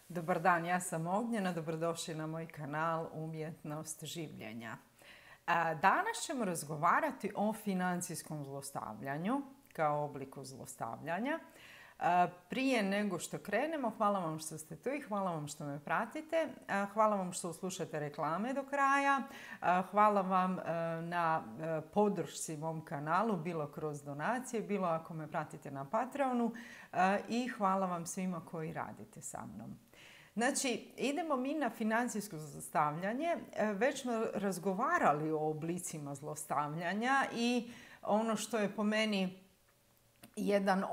Dobar dan, ja sam Ognjena, dobrodošli na moj kanal Umjetnost življenja. Danas ćemo razgovarati o financijskom zlostavljanju kao obliku zlostavljanja. Prije nego što krenemo, hvala vam što ste tu i hvala vam što me pratite. Hvala vam što slušate reklame do kraja. Hvala vam na podršci mom kanalu, bilo kroz donacije, bilo ako me pratite na Patreonu. I hvala vam svima koji radite sa mnom. Znači, idemo mi na financijsko zlostavljanje. Već smo razgovarali o oblicima zlostavljanja i ono što je po meni jedna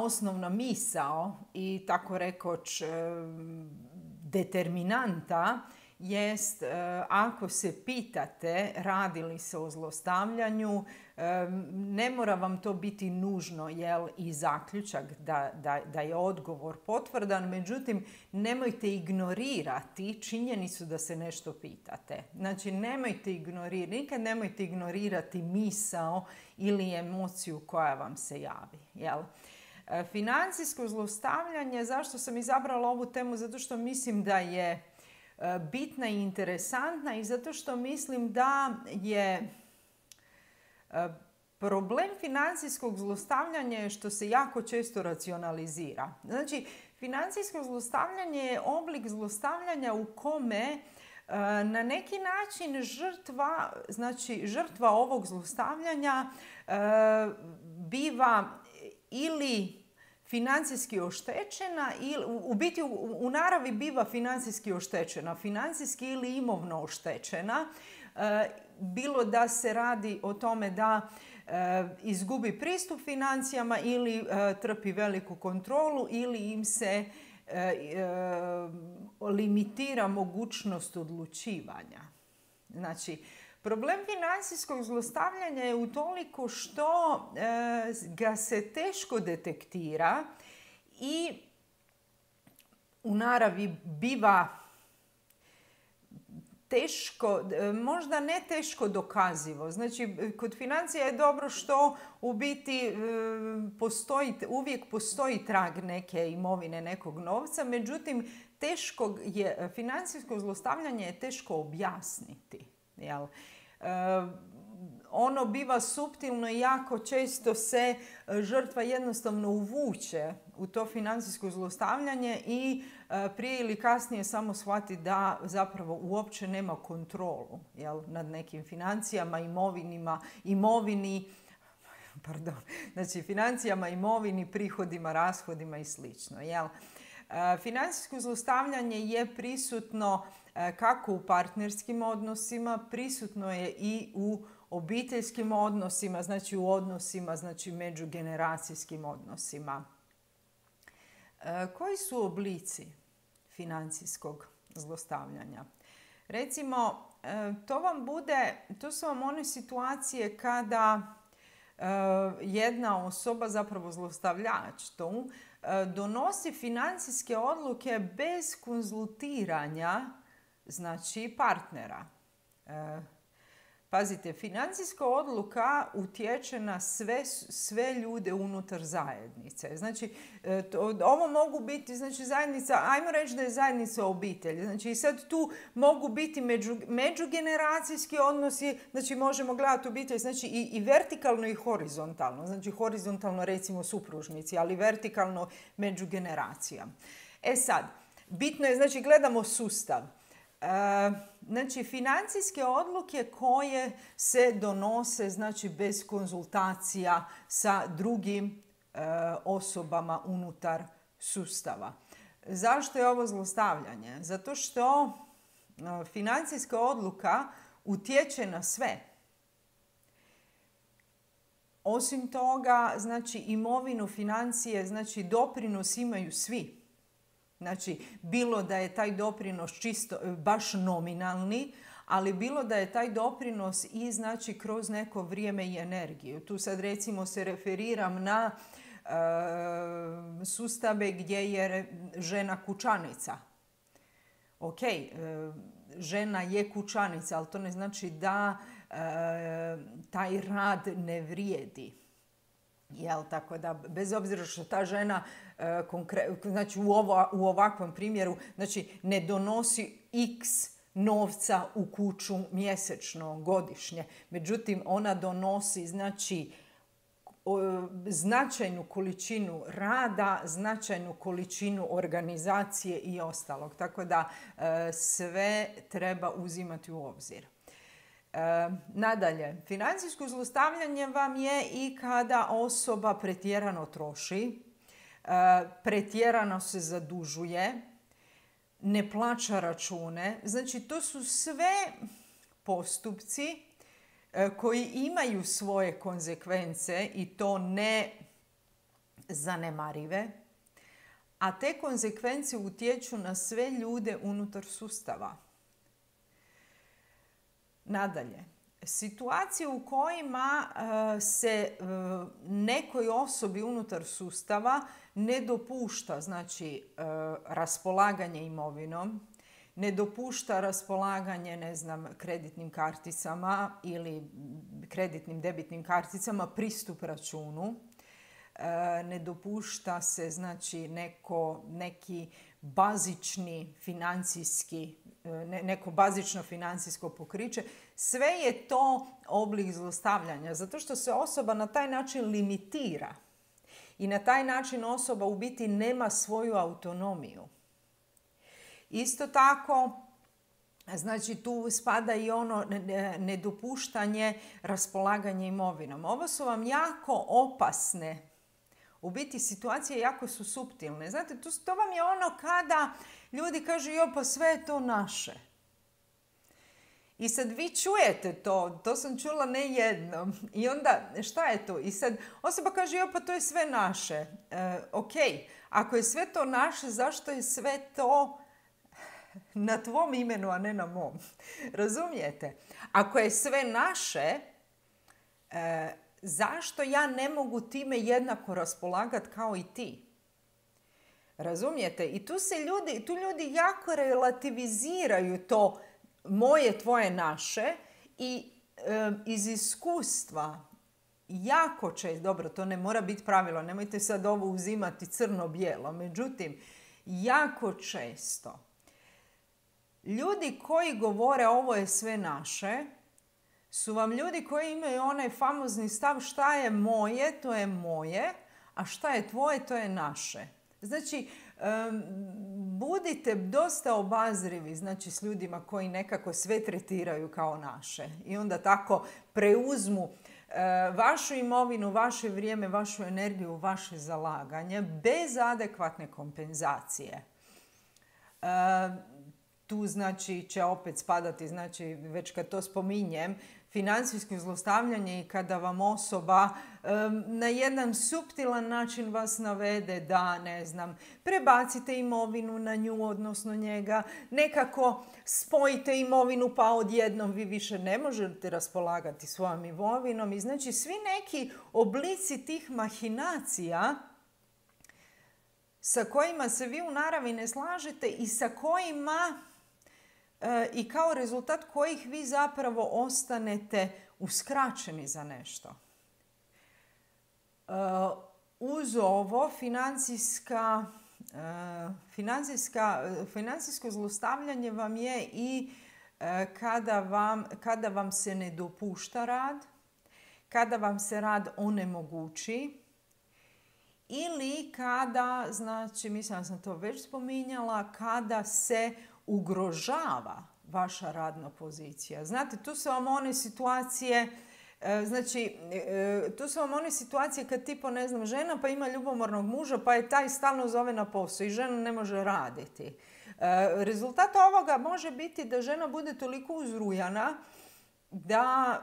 osnovna misao i tako rekoć determinanta jest ako se pitate radi li se o zlostavljanju, ne mora vam to biti nužno i zaključak da je odgovor potvrdan, međutim nemojte ignorirati činjenicu da se nešto pitate. Znači nikad nemojte ignorirati misao ili emociju koja vam se javi. Financijsko zlostavljanje, zašto sam izabrala ovu temu? Zato što mislim da je bitna i interesantna i zato što mislim da je problem financijskog zlostavljanja je što se jako često racionalizira. Znači, financijsko zlostavljanje je oblik zlostavljanja u kome na neki način žrtva ovog zlostavljanja biva ili financijski oštećena, u biti u naravi biva financijski oštećena, financijski ili imovno oštećena, bilo da se radi o tome da izgubi pristup financijama ili trpi veliku kontrolu ili im se limitira mogućnost odlučivanja. Znači, problem financijskog zlostavljanja je utoliko što ga se teško detektira i u naravi biva teško, možda ne teško dokazivo. Znači, kod financija je dobro što u biti uvijek postoji trag neke imovine, nekog novca, međutim, financijsko zlostavljanje je teško objasniti. Ono biva suptilno i jako često se žrtva jednostavno uvuče u to financijsko zlostavljanje i prije ili kasnije samo shvati da zapravo uopće nema kontrolu nad nekim financijama, financijama, imovini, prihodima, rashodima i slično. Financijsko zlostavljanje je prisutno kako u partnerskim odnosima, prisutno je i u obiteljskim odnosima, znači u odnosima, međugeneracijskim odnosima. Koji su oblici financijskog zlostavljanja? Recimo, to su vam one situacije kada jedna osoba, zapravo zlostavljač donosi financijske odluke bez konzultiranja partnera. Pazite, financijska odluka utječe na sve ljude unutar zajednice. Znači, ovo mogu biti zajednica, ajmo reći da je zajednica obitelji. Znači, i sad tu mogu biti međugeneracijski odnosi, znači možemo gledati obitelj, znači i vertikalno i horizontalno. Znači, horizontalno recimo supružnici, ali vertikalno među generacijama. Sad, bitno je, znači gledamo sustav. Znači, financijske odluke koje se donose bez konzultacija sa drugim osobama unutar sustava. Zašto je ovo zlostavljanje? Zato što financijska odluka utječe na sve. Osim toga, imovinu, financije, doprinos imaju svi. Znači, bilo da je taj doprinos čisto, baš nominalni, ali bilo da je taj doprinos i kroz neko vrijeme i energiju. Tu sad recimo se referiram na sustave gdje je žena kućanica. Ok, žena je kućanica, ali to ne znači da taj rad ne vrijedi. Jel, tako da, bez obzira što ta žena znači u ovakvom primjeru znači, ne donosi x novca u kuću mjesečno, godišnje. Međutim, ona donosi znači značajnu količinu rada, značajnu količinu organizacije i ostalog. Tako da sve treba uzimati u obzir. Nadalje, financijsko zlostavljanje vam je i kada osoba pretjerano troši, pretjerano se zadužuje, ne plaća račune. Znači, to su sve postupci koji imaju svoje konzekvence i to ne zanemarive, a te konzekvence utječu na sve ljude unutar sustava. Nadalje, situacije u kojima se nekoj osobi unutar sustava ne dopušta znači, raspolaganje imovinom, ne dopušta raspolaganje, ne znam, kreditnim karticama ili kreditnim debitnim karticama, pristup računu, ne dopušta se znači neki bazični financijski, neko bazično financijsko pokriće. Sve je to oblik zlostavljanja, zato što se osoba na taj način limitira i na taj način osoba u biti nema svoju autonomiju. Isto tako, znači tu spada i ono nedopuštanje raspolaganja imovinom. Ovo su vam jako opasne, u biti situacije jako su suptilne. Znate, to vam je ono kada ljudi kažu jo pa sve je to naše. I sad vi čujete to sam čula ne jednom. I onda šta je to? I sad osoba kaže jo pa to je sve naše. Ok, ako je sve to naše, zašto je sve to na tvom imenu, a ne na mom? Razumijete? Ako je sve naše, zašto ja ne mogu time jednako raspolagati kao i ti? Razumijete? I tu ljudi jako relativiziraju to moje, tvoje, naše i iz iskustva jako često, dobro, to ne mora biti pravilo, nemojte sad ovo uzimati crno-bijelo, međutim, jako često ljudi koji govore ovo je sve naše, su vam ljudi koji imaju onaj famozni stav šta je moje, to je moje, a šta je tvoje, to je naše. Znači, budite dosta obazrivi znači, s ljudima koji nekako sve tretiraju kao naše i onda tako preuzmu vašu imovinu, vaše vrijeme, vašu energiju, vaše zalaganje bez adekvatne kompenzacije. Tu znači će opet spadati, znači već kad to spominjem, financijsko zlostavljanje i kada vam osoba na jedan suptilan način vas navede da, ne znam, prebacite imovinu na nju, odnosno njega, nekako spojite imovinu pa odjednom vi više ne možete raspolagati svojom imovinom. I znači svi neki oblici tih mahinacija sa kojima se vi u naravi ne slažete i sa kojima i kao rezultat kojih vi zapravo ostanete uskraćeni za nešto. Uz ovo financijsko zlostavljanje vam je i kada vam se ne dopušta rad, kada vam se rad onemogući ili kada, znači mislim da sam to već spominjala, kada se ugrožava vaša radna pozicija. Znate, tu su vam one situacije, kad tipo, ne znam, žena pa ima ljubomornog muža pa je taj stalno zove na posao i žena ne može raditi. Rezultat ovoga može biti da žena bude toliko uzrujana da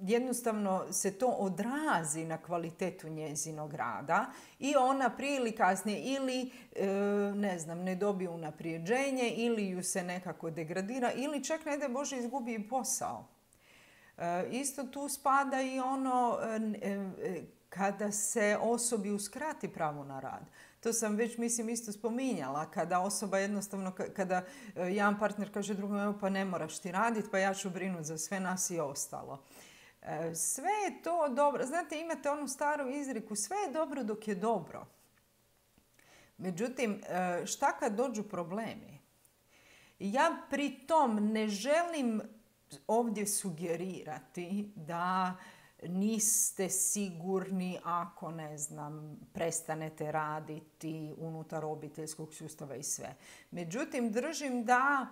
jednostavno se to odrazi na kvalitetu njezinog rada i ona prije ili kasnije ili ne dobije unaprijeđenje ili ju se nekako degradira ili čak ne daj Bože izgubi posao. Isto tu spada i ono kada se osobi uskrati pravo na rad. To sam već, mislim, isto spominjala. Kada osoba jednostavno, kada jedan partner kaže drugom, evo pa ne moraš ti raditi, pa ja ću brinuti za sve nas i ostalo. Sve je to dobro. Znate, imate onu staru izreku, sve je dobro dok je dobro. Međutim, šta kad dođu problemi? Ja pri tom ne želim ovdje sugerirati da niste sigurni ako, ne znam, prestanete raditi unutar obiteljskog sustava i sve. Međutim, držim da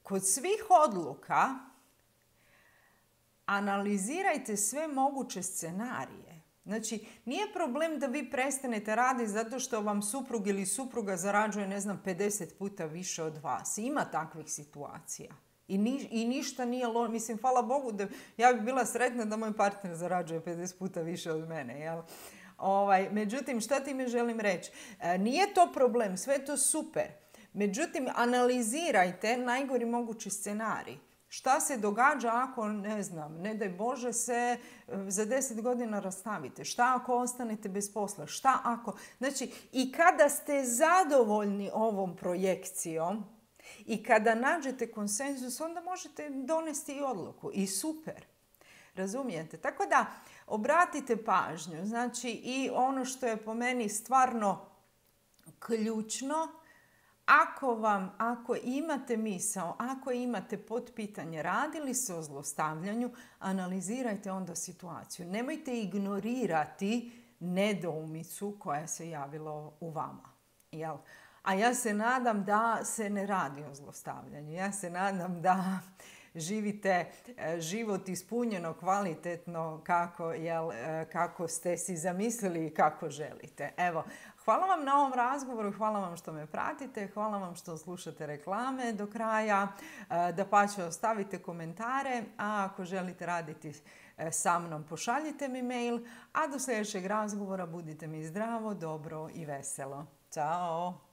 kod svih odluka analizirajte sve moguće scenarije. Znači, nije problem da vi prestanete raditi zato što vam suprug ili supruga zarađuje, ne znam, 50 puta više od vas. Ima takvih situacija. I ništa nije loše. Mislim, hvala Bogu da ja bi bila sretna da moj partner zarađuje 50 puta više od mene. Jel? Međutim, šta ti mi želim reći? Nije to problem, sve je to super. Međutim, analizirajte najgori mogući scenarij. Šta se događa ako, ne znam, ne daj Bože se za 10 godina rastavite? Šta ako ostanete bez posla? Šta ako? Znači, i kada ste zadovoljni ovom projekcijom i kada nađete konsenzus, onda možete donesti i odluku. I super. Razumijete? Tako da, obratite pažnju. Znači, i ono što je po meni stvarno ključno, ako imate misao, ako imate potpitanje, radi li se o zlostavljanju, analizirajte onda situaciju. Nemojte ignorirati nedoumicu koja se javila u vama. Jel? A ja se nadam da se ne radi o zlostavljanju. Ja se nadam da živite život ispunjeno, kvalitetno, kako ste si zamislili i kako želite. Evo, hvala vam na ovom razgovoru, hvala vam što me pratite, hvala vam što slušate reklame do kraja. Dapače, ostavite komentare, a ako želite raditi sa mnom, pošaljite mi mail, a do sljedećeg razgovora budite mi zdravo, dobro i veselo. Ćao!